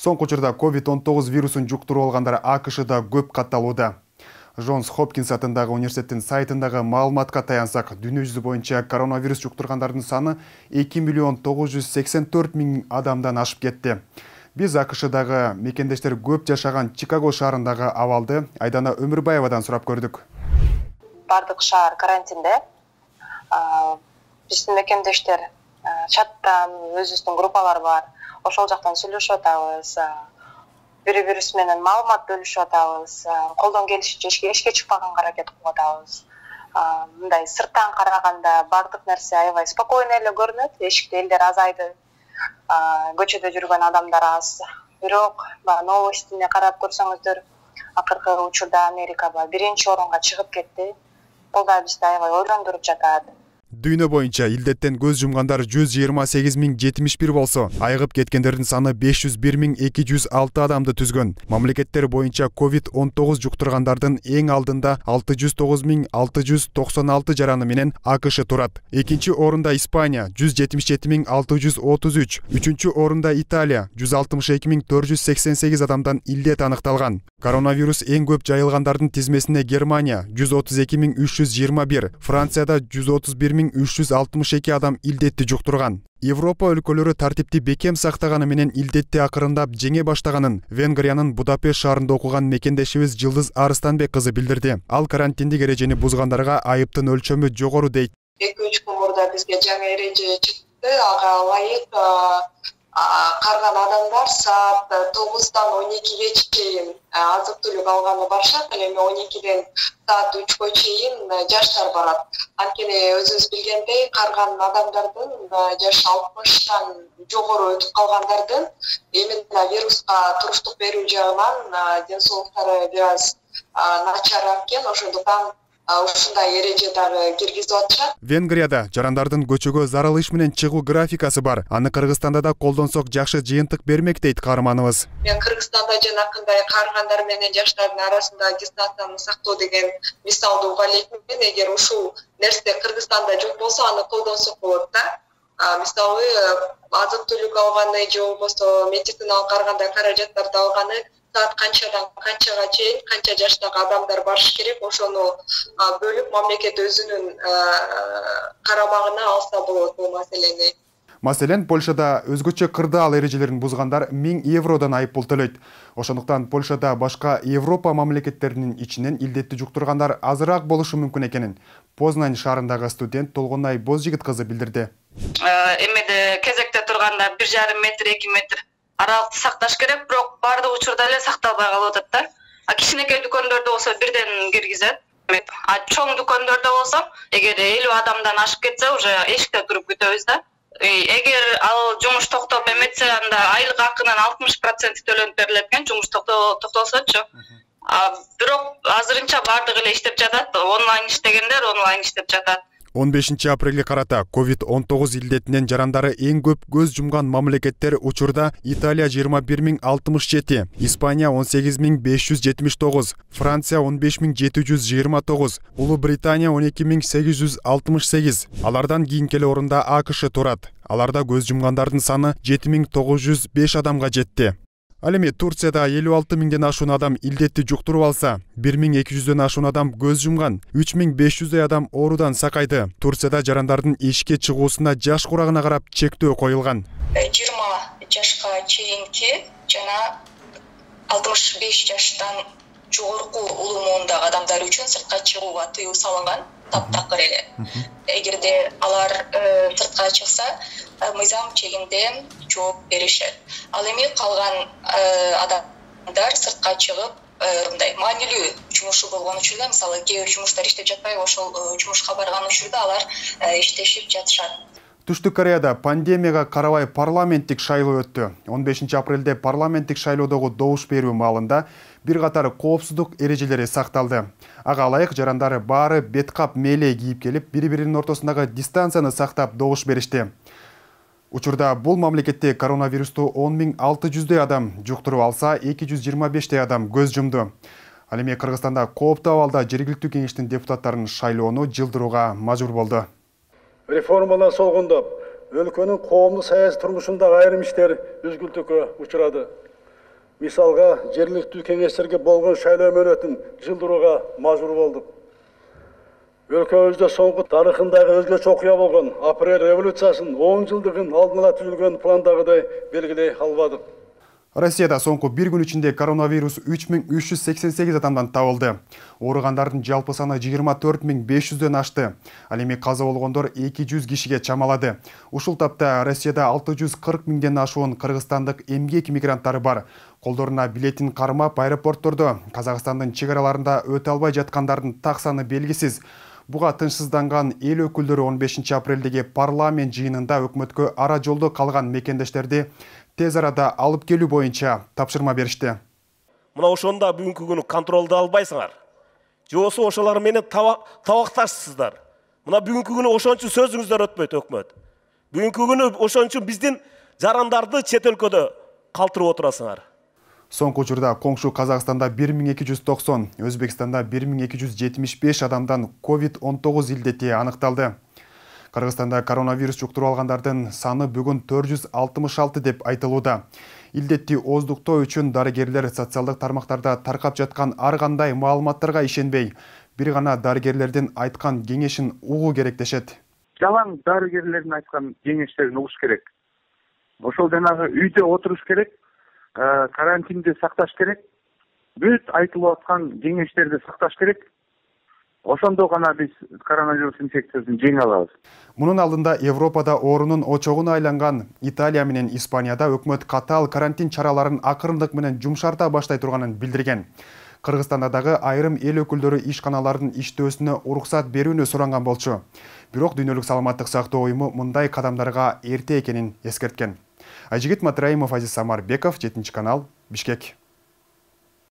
Соңку учурда COVID-19 вирусун жуктуруп алгандар АКШда көп катталууда. Джонс Хопкинс атындагы университеттин сайтындагы маалыматка таянсак, дүйнө жүзү боюнча коронавирус жуктургандардын саны 2 миллион 984 миң адамдан ашып кетти. Биз АКШдагы мекендештер көп жашаган Чикаго шаарындагы абалды Айдана Өмүрбаевадан сурап көрдүк. Бардык шаар карантинде. Биздин мекендештер чаттан өзүбүздүн группалар бар. Ошол жактан сүйлөшүп атабыз. Бири-бирибиз менен маалымат бөлүшүп атабыз. Колдон келишинче эшикке чыкпаганга аракет кылып атабыз. Мындай сырттан караганда бардык нерсе аябай спокойно эле көрүнөт. Эшикте элдер азайды. Көчөдө жүргөн адамдар аз. Бирок новостине карап көрсөңүздөр, акыркы учурда Америка биринчи орунга чыгып кетти. Бул да бизди аябай ойлондуруп жатат. Дүйнө боюнча илдеттен көз жумгандар 128.071 болсо, айыгып кеткендердин саны 501.206 адамды түзгөн. Мамлекеттер боюнча COVID-19 жуктургандардын эң алдында 609.696 жараны менен АКШ турат. Экинчи орунда Испания 177.633, үчүнчү орунда Италия 162.488 адамдан илдет аныкталган. Коронавирус эң көп жайылгандардын тизмесине Германия 132.321, Францияда 131.362 адам илдетти жуктурган. Европа өлкөлөрү тартипти бекем сактаганы менен илдетти акырындап жеңе баштаганын Венгриянын Будапешт шаарында окуган мекендешибиз Жылдыз Арыстанбек кызы билдирди. Ал карантиндик эрежени бузгандарга айыптын өлчөмү жогору дейт. 2-3 күн мурда бизге жаңы эреже чыкты, ага ылайык карган адамдар саат 9-дан 12ге чейин азык-түлүк алганы барышат, эми 12ден саат 3гө чейин жаштар барат. Анткени өзүбүз билгендей, карган адамдардын жашы 60тан жогору өтүп калгандардын именно вируска туруштук берүү жагынан ден соолуктары бир аз начарак экен, ошондуктан ушундай эреже дагы киргизип атышат. Венгрияда жарандардын көчөгө зарыл иш менен чыгуу графикасы бар. Аны Кыргызстанда да колдонсок жакшы жыйынтык бермек дейт каарманыбыз. Мен Кыргызстанда жанакындай карыгандар менен жаштардын арасында дистанцияны сактоо деген мисалды уга элекмин. Эгер ушул нерсе Кыргызстанда жок болсо, аны колдонсок болот да. Мисалы азык-түлүк алганы же болбосо медициналык караганда каражаттарды алганы саат канчадан канчага чейин канча жаштагы адамдар барыш керек, ошону бөлүп мамлекет өзүнүн карамагына алса болот бул маселени. Маселен, Польшада өзгөчө кырдаал эрежелерин бузгандар 1000 евродон айыппул төлөйт. Ошондуктан Польшада башка Европа мамлекеттеринин ичинен илдетти жуктургандар азыраак болушу мүмкүн экенин Познань шаарындагы студент Толгонай Бозжигит кызы билдирди. Эмеде кезекте турганда 1,5 метр, 2 метр аралыкты сакташ керек, бирок баардык учурда эле сакталбай калып атат да. Кичинекей дүкөндөрдө болсо бирден киргизет. Чоң дүкөндөрдө болсо, эгер 50 адамдан ашып кетсе, уже эшикте туруп күтөбүз да. Эгер ал жумуш токтоп эметсе, анда айлык акынын 60% төлөнүп берилет экен, жумуш токтолсочу. Бирок азырынча баардыгы эле иштеп жатат. Онлайн иштегендер онлайн иштеп жатат. 15 апрелге карата COVID-19 илдетинен жарандары эң көп көз жумган мамлекеттер учурда Италия 21.067, Испания 18.579, Франция 15.729, Улуу Британия 12.868. Алардан кийинки орунда АКШ турат. Аларда көз жумгандардын саны 7.905 адамга жетти. Ал эми Турцияда 56 миңден ашуун адам илдетти жуктуруп алса, 1200дөн ашуун адам көз жумган, 3500 адам оорудан сакайды. Турцияда жарандардын эшикке чыгуусуна жаш курагына карап чектөө коюлган. 20 жашка чейинки жана 65 жаштан жогорку улуу муундагы адамдар үчүн сыртка чыгууга тыюу салынган, таптакыр эле. Эгерде алар сыртка чыкса, мыйзам чегинде жооп беришет. Ал эми калган адамдар сыртка чыгып, мындай маанилүү жумушу болгон учурда, мисалы кээ бир жумуштар иштеп жатпай, ошол жумушка барган учурда алар иштешип жатышат. Түштүк Кореяда пандемияга карабай парламенттик шайлоо өттү. 15 апрелде парламенттик шайлоодогу добуш берүү маалында бир катар коопсуздук эрежелери сакталды. Ага ылайык жарандары баары бет кап мээлей кийип келип, бири-биринин ортосундагы дистанцияны сактап добуш беришти. Учурда бул мамлекетте коронавирусту 10.600 адам жуктуруп алса, 225 адам көз жумду. Ал эми Кыргызстанда кооптуу абалда жергиликтүү кеңештин депутаттарын шайлоону жылдырууга мажбур болду. Реформалар солгондоп, өлкөнүн коомдук саясий турмушундагы айрым иштер үзгүлтүккө учурады. Мисалга, жергиликтүү кеңештерге болгон шайлоо мөөнөтүн жылдырууга мажбур болдук. Өлкөбүздө соңку тарыхындагы өзгөчө окуя болгон апрель революциясынын 10 жылдыгын алдын ала түзүлгөн пландагыдай белгилей албадык. Россияда соңку бир күн ичинде коронавирус 3388 адамдан табылды. Ооругандардын жалпы саны 24500дөн ашты. Ал эми каза болгондор 200 кишиге чамалады. Ушул тапта Россияда 640 миңден ашуун кыргызстандык эмгек мигранттары бар. Колдоруна билетин кармап аэропорттордо Казакстандын чек араларында өтө албай жаткандардын так саны белгисиз. Буга тынчсызданган эл өкүлдөрү 15 апрелдеги парламент жыйынында өкмөткө ара жолдо калган мекендештерди тез арада алып келүү боюнча тапшырма беришти. Мына ошондо бүгүнкү күнү контролду албайсыңар. Же болбосо ошолор менен табакташсыздар. Мына бүгүнкү күнү ошончу сөзүңүздөр өтпөйт өкмөт. Бүгүнкү күнү ошончу биздин жарандарды чет өлкөдө калтырып отурасыңар. Соңку учурда коңшу Казакстанда 1290, Өзбекстанда 1275 адамдан COVID-19 илдети аныкталды. Кыргызстанда коронавирус жуктуруп алгандардын саны бүгүн 466 деп айтылууда. Илдетти ооздуктоо үчүн дарыгерлер социалдык тармактарда таркап жаткан ар кандай маалыматтарга ишенбей, бир гана дарыгерлердин айткан кеңешин угуу керек дешет. Жалаң дарыгерлердин айткан кеңештерин угуш керек. Ошол жанагы үйдө отуруш керек, карантинди сакташ керек, бүт айтылып аткан кеңештерди сакташ керек. Ошондо гана биз коронавирус инфекциясын жеңе алабыз. Мунун алдында Европада оорунун очогуна айланган Италия менен Испанияда өкмөт катаал карантин чараларын акырындык менен жумшарта баштай турганын билдирген. Кыргызстанда дагы айрым эл өкүлдөрү ишканалардын иштөөсүнө уруксат берүүнү суранган болчу. Бирок Дүйнөлүк саламаттык сактоо уюму мындай кадамдарга эрте экенин эскерткен. Айжигит Матраимов, Азиз Самарбеков, 7 канал, Бишкек.